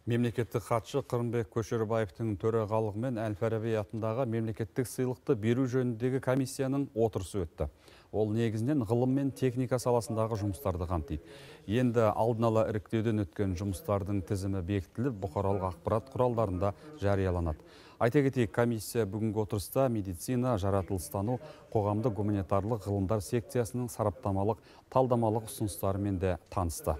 Мемлекеттік хатшы Қырымбек Көшербаевтың төрағалығымен Әл-Фараби атындағы мемлекеттік сыйлықты беру жөніндегі комиссияның отырысы өтті. Ол негізінен ғылым мен техника саласындағы жұмыстарды қамтиды. Енді алдын ала іріктеуден өткен жұмыстардың тізімі бекітіліп, бұқаралық ақпарат құралдарында жарияланады. Айта кетейік, комиссия бүгінгі отырыста медицина, жаратылыстану, қоғамдық гуманитарлық ғылымдар секциясының сараптамалық, талдамалық ұсыныстарымен де танысты.